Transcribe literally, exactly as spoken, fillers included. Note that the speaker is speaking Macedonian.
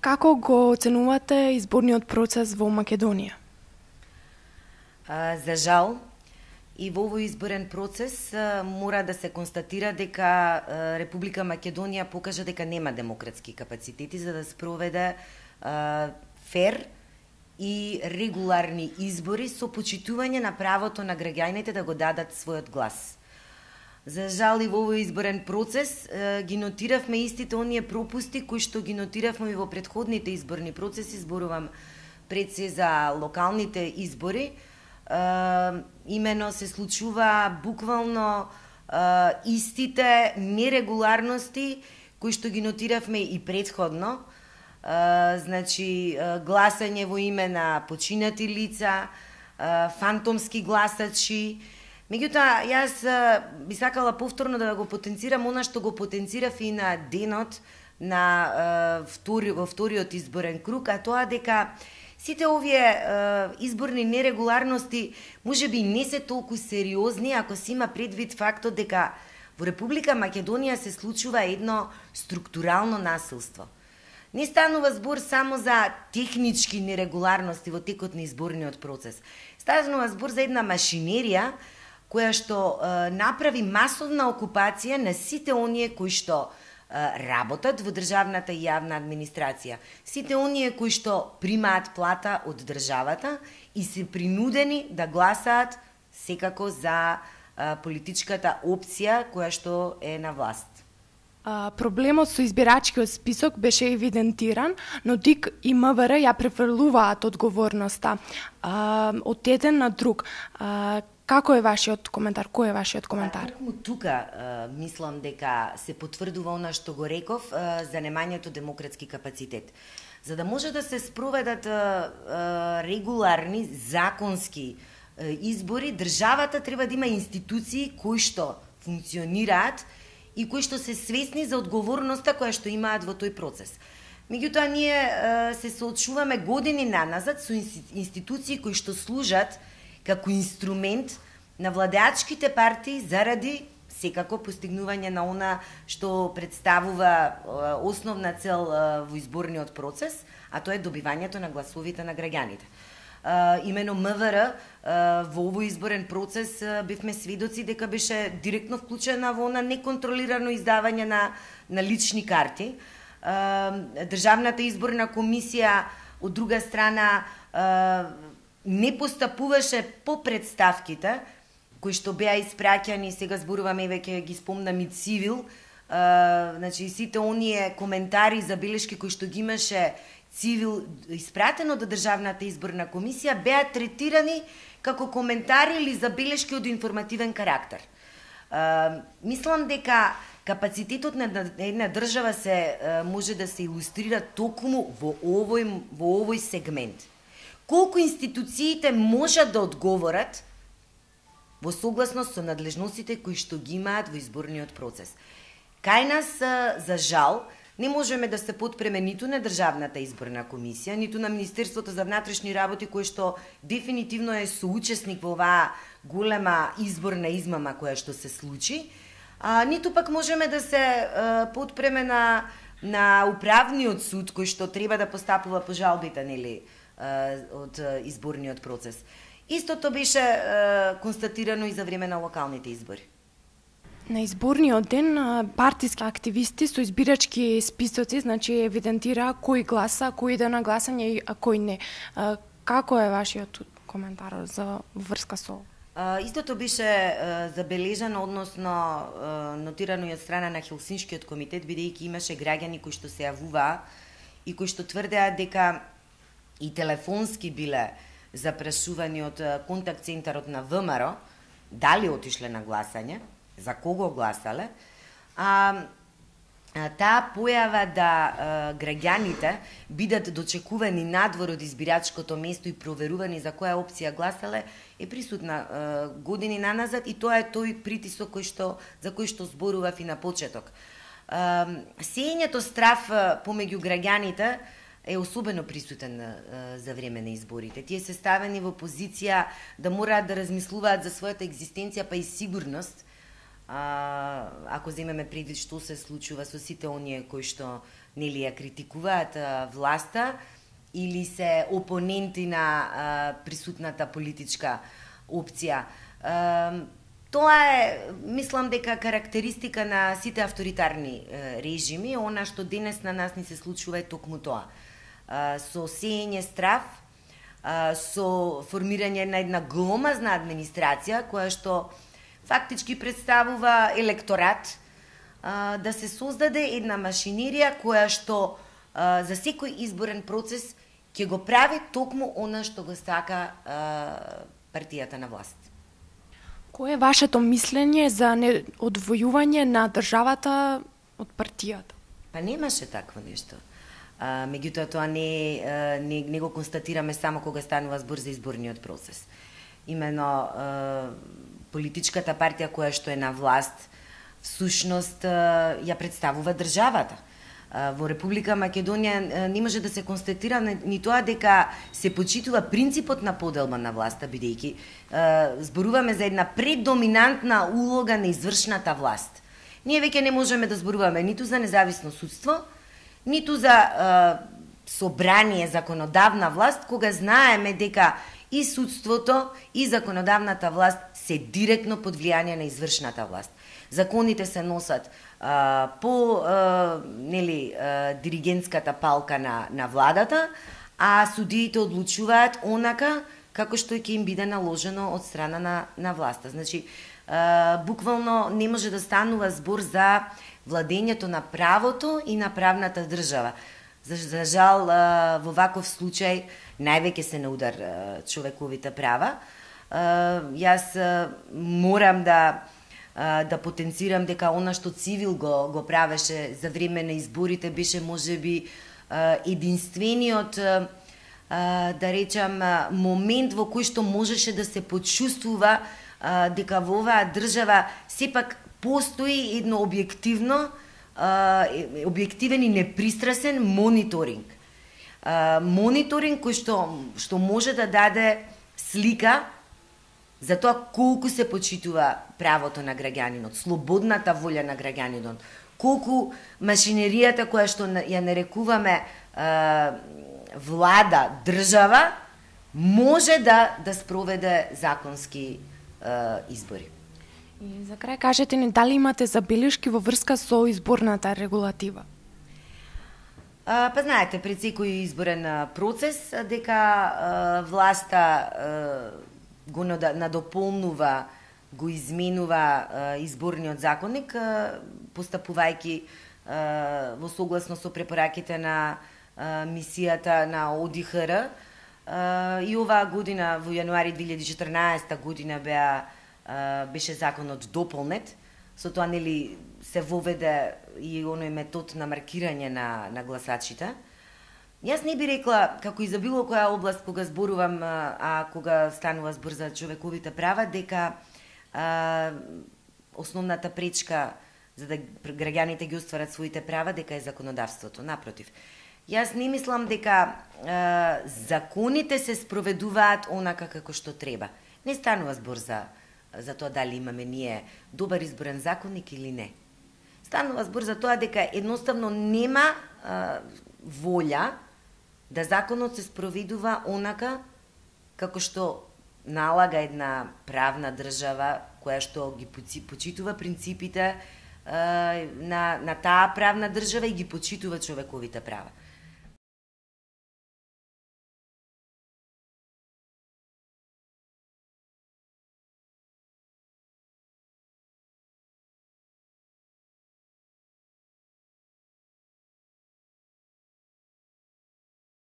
Како го оценувате изборниот процес во Македонија? А, за жал, и во овој изборен процес а, мора да се констатира дека а, Република Македонија покажа дека нема демократски капацитети за да спроведе а, фер и регуларни избори со почитување на правото на граѓаните да го дадат својот глас. За жал и во овој изборен процес а, ги нотиравме истите оние пропусти кои што ги нотиравме и во претходните изборни процеси, зборувам пред се за локалните избори. Uh, имено се случува буквално uh, истите нерегуларности кои што ги нотиравме и предходно. Uh, значи, uh, гласање во име на починати лица, uh, фантомски гласачи. Меѓутоа, јас uh, би сакала повторно да го потенцирам она што го потенцирав и на денот на uh, втори, во вториот изборен круг, а тоа дека сите овие е, изборни нерегуларности можеби не се толку сериозни ако се има предвид фактот дека во Република Македонија се случува едно структурално насилство. Не станува збор само за технички нерегуларности во текот на изборниот процес. Станува збор за една машинерија која што е, направи масовна окупација на сите оние кои што работат во државната и јавна администрација. Сите оние кои што примаат плата од државата и се принудени да гласаат секако за а, политичката опција која што е на власт. А, проблемот со избирачкиот список беше евидентиран, но ДИК и МВР ја префрлуваат одговорноста а, од еден на друг. А, Како е вашиот коментар? Кој е вашиот коментар? Токму тука а, мислам дека се потврдува она што го реков а, за немањето демократски капацитет. За да може да се спроведат а, а, регуларни, законски а, избори, државата треба да има институции кои што функционираат и кои што се свесни за одговорноста која што имаат во тој процес. Меѓутоа, ние а, се соочуваме години наназад со институции кои што служат како инструмент на владеачките партии заради секако постигнување на она што представува основна цел во изборниот процес, а тоа е добивањето на гласовите на граѓаните. Имено МВР во овој изборен процес бевме сведоци дека беше директно вклучена во она неконтролирано издавање на, на лични карти. Државната изборна комисија, од друга страна, не постапуваше по представките кои што беа испраќани, сега зборуваме и веќе ги спомнам и Цивил, а, значи сите оние коментари, забелешки кои што ги имаше Цивил испратено до Државната изборна комисија беа третирани како коментари или забелешки од информативен карактер. А, мислам дека капацитетот на една држава се а, може да се илустрира токму во овој во овој сегмент. Колку институциите можат да одговорат во согласност со надлежностите кои што ги имаат во изборниот процес. Кај нас, за жал, не можеме да се потпреме ниту на Државната изборна комисија, ниту на Министерството за внатрешни работи, кој што дефинитивно е соучесник во оваа голема изборна измама која што се случи, а, ниту пак можеме да се а, потпреме на, на управниот суд кој што треба да постапува по жалбите, нели, од изборниот процес. Истото беше е, констатирано и за време на локалните избори. На изборниот ден партиски активисти со избирачки списоци, значи евидентира кој гласа, кој иде на гласање и кој не. Како е вашиот коментар за врска со? Истото беше е, забележано, односно е, нотирано и од страна на Хелсиншкиот комитет, бидејќи имаше граѓани кои што се јавуваа и кои што тврдеа дека и телефонски биле запрашувани од контакт центарот на ВМРО, дали отишле на гласање, за кого гласале, а, а таа појава да а, граѓаните бидат дочекувани надвор од избирачкото место и проверувани за која опција гласале, е присутна а, години наназад и тоа е тој притисок кој што, за кој што зборував и на почеток. А, сеењето страв помеѓу граѓаните е особено присутен а, за време на изборите. Тие се ставени во позиција да мораат да размислуваат за својата екзистенција па и сигурност, а, ако земеме предвид што се случува со сите оние кои што нели ја критикуваат власта или се опоненти на а, присутната политичка опција. А, тоа е, мислам дека карактеристика на сите авторитарни а, режими, она што денес на нас ни се случува е токму тоа. А, со сеење страв, а, со формирање на една гломазна администрација која што фактички представува електорат, а, да се создаде една машинерија која што а, за секој изборен процес ќе го прави токму она што го сака а, партијата на власт. Кое е вашето мислење за одвојување на државата од партијата? Па немаше такво нешто. А, меѓутоа тоа не, не, не го констатираме само кога станува збор за изборниот процес. Имено а, политичката партија која што е на власт всушност ја представува државата. Во Република Македонија не може да се констатира ни тоа дека се почитува принципот на поделба на власта, бидејќи зборуваме за една предоминантна улога на извршната власт. Ние веќе не можеме да зборуваме ниту за независно судство, ниту за собрание, законодавна власт, кога знаеме дека и судството, и законодавната власт се директно под влијание на извршната власт. Законите се носат а, по а, нели, а, диригентската палка на, на владата, а судиите одлучуваат онака како што ќе им биде наложено од страна на, на власта. Значи, а, буквално не може да станува збор за владењето на правото и на правната држава. За, за жал, а, во ваков случај највеќе се на удар а, човековите права. А, јас а, морам да да потенцирам дека она што Цивил го, го правеше за време на изборите беше можеби единствениот, да речам, момент во кој што можеше да се почувствува дека во оваа држава сепак постои едно објективно, објективен и непристрасен мониторинг. Мониторинг кој што, што може да даде слика за тоа колку се почитува правото на граѓанинот, слободната волја на граѓанинот, колку машинеријата која што ја нарекуваме е, влада, држава, може да да спроведе законски е, избори. И за крај кажете ни дали имате забелешки во врска со изборната регулатива? А, па знаете, пред секој изборен процес дека е, власта е, го надополнува, го изменува е, изборниот законник, е, постапувајќи е, во согласно со препораките на е, мисијата на О Д Х Р. Е, и оваа година, во јануари две илјади и четрнаесетта година, беа, е, беше законот дополнет, со тоа нели се воведе и оној метод на маркирање на, на гласачите. Јас не би рекла, како и за било која област кога зборувам, а кога станува збор за човековите права, дека а, основната пречка за да граѓаните ги остварат своите права, дека е законодавството. Напротив, јас не мислам дека а, законите се спроведуваат онака како што треба. Не станува збор за, за тоа дали имаме ние добар изборен законник или не. Станува збор за тоа дека едноставно нема а, волја да законот се спроведува онака како што налага една правна држава која што ги почитува принципите е, на, на таа правна држава и ги почитува човековите права.